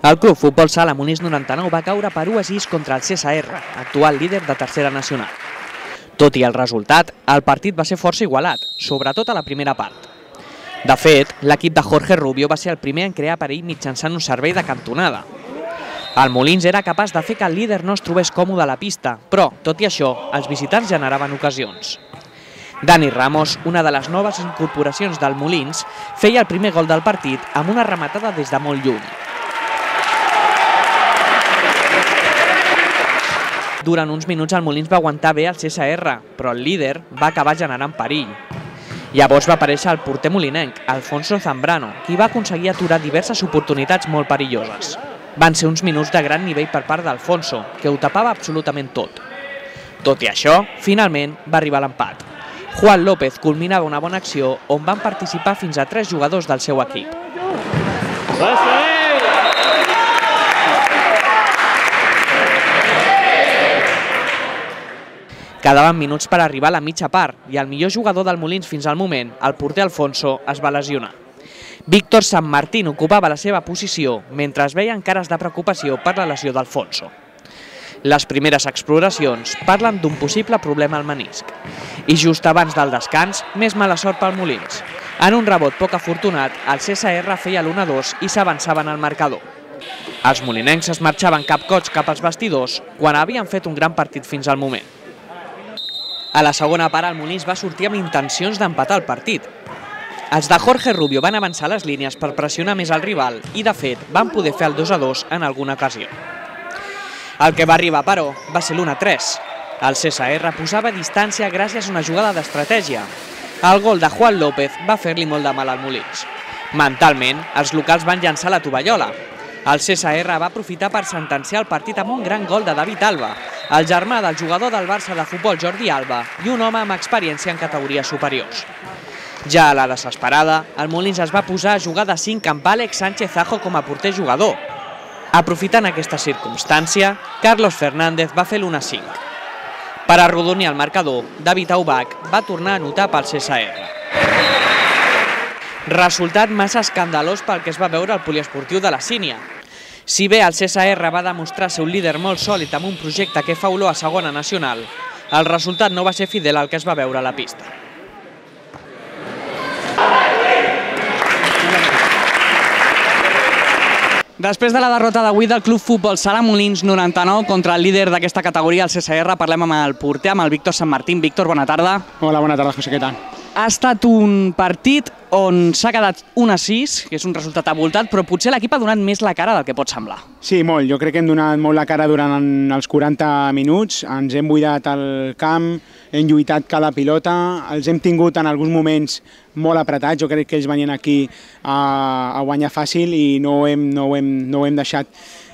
El Club Futbol Sala Molins 99 va caure per 1-6 contra el CSR, actual líder de tercera nacional. Tot i el resultat, el partit va ser força igualat, sobretot a la primera part. De fet, l'equip de Jorge Rubio va ser el primer en crear perill mitjançant un servei de cantonada. El Molins era capaç de fer que el líder no es trobés còmode a la pista, però, tot i això, els visitants generaven ocasions. Dani Ramos, una de les noves incorporacions del Molins, feia el primer gol del partit amb una rematada des de molt lluny. Durant uns minuts el Molins va aguantar bé el CSR, però el líder va acabar generant perill. Llavors va aparèixer el porter molinenc, Alfonso Zambrano, qui va aconseguir aturar diverses oportunitats molt perilloses. Van ser uns minuts de gran nivell per part d'Alfonso, que ho tapava absolutament tot. Tot i això, finalment va arribar l'empat. Juan López culminava una bona acció on van participar fins a 3 jugadors del seu equip. Quedaven minuts per arribar a la mitja part i el millor jugador del Molins fins al moment, el porter Alfonso, es va lesionar. Víctor San Martín ocupava la seva posició mentre es veien cares de preocupació per la lesió d'Alfonso. Les primeres exploracions parlen d'un possible problema al menisc. I just abans del descans, més mala sort pel Molins. En un rebot poc afortunat, el CSR feia l'1-2 i s'avançaven al marcador. Els molinencs es marxaven capcots cap als vestidors quan havien fet un gran partit fins al moment. A la segona part, el Molins va sortir amb intencions d'empatar el partit. Els de Jorge Rubio van avançar les línies per pressionar més el rival i, de fet, van poder fer el 2-2 en alguna ocasió. El que va arribar, però, va ser l'1-3. El CSR posava distància gràcies a una jugada d'estratègia. El gol de Juan López va fer-li molt de mal al Molins. Mentalment, els locals van llançar la tovallola. El CSR va aprofitar per sentenciar el partit amb un gran gol de David Alba, el germà del jugador del Barça de futbol Jordi Alba i un home amb experiència en categories superiors. Ja a la desesperada, el Molins es va posar a jugar de 5 amb Àlex Sánchez Ajo com a porter jugador. Aprofitant aquesta circumstància, Carlos Fernández va fer l'1-5. Per arrodonir el marcador, David Aubach va tornar a anotar pel CSR. Resultat massa escandalós pel que es va veure al poliesportiu de la Sínia. Si bé el CSR va demostrar ser un líder molt sòlid amb un projecte que fa olor a segona nacional, el resultat no va ser fidel al que es va veure a la pista. Després de la derrota d'avui del Club Futbol Sala Molins 99 contra el líder d'aquesta categoria, el CSR, parlem amb el porter, amb el Víctor San Martín. Víctor, bona tarda. Hola, bona tarda, José, què tal? Ha estat un partit on s'ha quedat 1-6, que és un resultat avoltat, però potser l'equip ha donat més la cara del que pot semblar. Sí, molt. Jo crec que hem donat molt la cara durant els 40 minuts. Ens hem buidat el camp, hem lluitat cada pilota, els hem tingut en alguns moments molt apretats. Jo crec que ells venien aquí a guanyar fàcil i no ho hem deixat.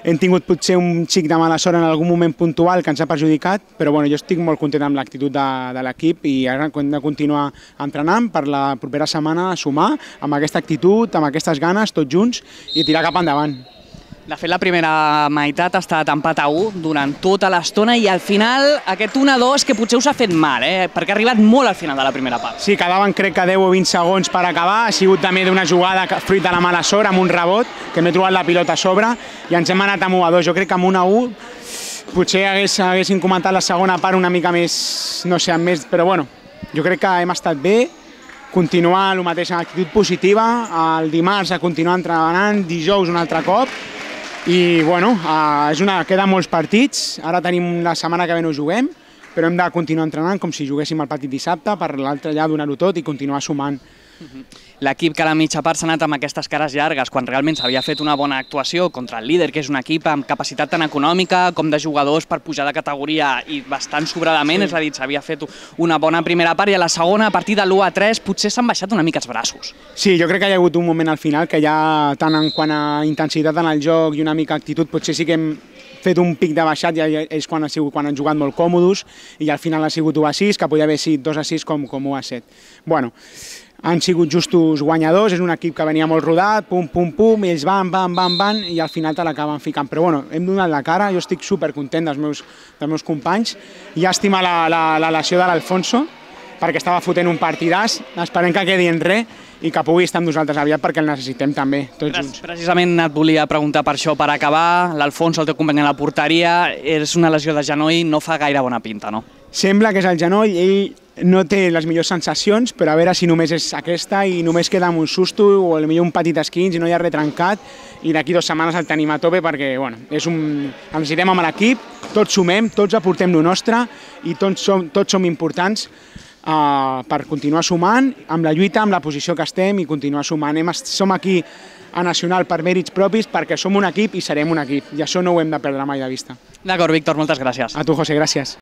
Hem tingut potser un xic de mala sort en algun moment puntual que ens ha perjudicat, però bueno, jo estic molt content amb l'actitud de l'equip i ara hem de continuar entrenant per la propera setmana sumar amb aquesta actitud, amb aquestes ganes, tots junts i tirar cap endavant. De fet, la primera meitat ha estat empat a 1 durant tota l'estona i al final aquest 1-2 que potser us ha fet mal, perquè ha arribat molt al final de la primera part. Sí, quedaven crec que 10 o 20 segons per acabar, ha sigut també d'una jugada fruit de la mala sort amb un rebot, que m'he trobat la pilota a sobre i ens hem anat amb 1-2. Jo crec que amb 1-1 potser haguéssim comentat la segona part una mica més, no sé, més, però bueno, jo crec que hem estat bé, continuar el mateix amb actitud positiva, el dimarts a continuar entrenant, dijous un altre cop, i bueno, queden molts partits, ara tenim la setmana que ve no juguem, però hem de continuar entrenant com si juguéssim el partit dissabte, per l'altre ja donar-ho tot i continuar sumant. L'equip que a la mitja part s'ha anat amb aquestes cares llargues, quan realment s'havia fet una bona actuació contra el líder, que és un equip amb capacitat tant econòmica com de jugadors per pujar de categoria i bastant sobradament, és a dir, s'havia fet una bona primera part i a la segona, a partir de l'1-3, potser s'han baixat una mica els braços. Sí, jo crec que hi ha hagut un moment al final que ja, tant en quant a intensitat en el joc i una mica actitud, potser sí que hem fet un pic de baixat, ja és quan han jugat molt còmodes i al final ha sigut 1-6, que podia haver sigut 2-6 com 1-7. Bueno, han sigut justos guanyadors, és un equip que venia molt rodat, pum, pum, pum, i ells van, i al final te l'acaben ficant. Però bueno, hem donat la cara, jo estic supercontent dels meus companys. Llàstima la lesió de l'Alfonso, perquè estava fotent un partidàs, esperem que quedi en res, i que pugui estar amb nosaltres aviat perquè el necessitem també, tots junts. Precisament et volia preguntar per això, per acabar, l'Alfonso, el teu company a la porteria, és una lesió de genoll, no fa gaire bona pinta, no? Sembla que és el genoll, ell no té les millors sensacions, però a veure si només és aquesta i només queda amb un susto o potser un petit esquinç i no hi ha res trencat, i d'aquí 2 setmanes el tenim a tope perquè bueno, el necessitem amb l'equip, tots sumem, tots aportem lo nostre i tots som importants per continuar sumant amb la lluita, amb la posició que estem i continuar sumant. Som aquí a Nacional per mèrits propis perquè som un equip i serem un equip i això no ho hem de perdre mai de vista. D'acord, Víctor, moltes gràcies. A tu, José, gràcies.